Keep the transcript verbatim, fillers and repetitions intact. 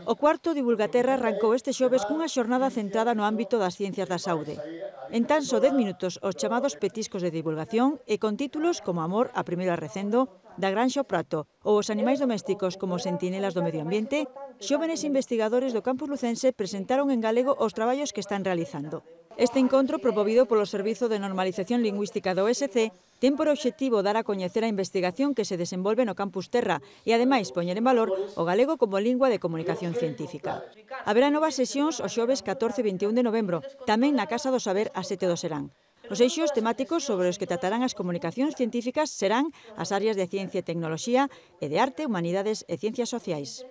O cuarto Divulgaterra arrancou este xoves cunha xornada centrada no ámbito das ciencias da saúde. En tan só dez minutos, os chamados petiscos de divulgación e con títulos como Amor a primeiro arrecendo, Da granxa ao prato ou os animais domésticos como sentinelas do medio ambiente, xóvenes investigadores do campus lucense presentaron en galego os traballos que están realizando. Este encontro, promovido polo Servizo de Normalización Lingüística do O S C, ten por obxectivo dar a coñecer a investigación que se desenvolve no campus Terra e, ademais, poñer en valor o galego como lingua de comunicación científica. Haberá novas sesións os xoves catorce e vinte e un de novembro, tamén na Casa do Saber a sete do Serán. Os eixos temáticos sobre os que tratarán as comunicacións científicas serán as áreas de ciencia e tecnoloxía e de arte, humanidades e ciencias sociais.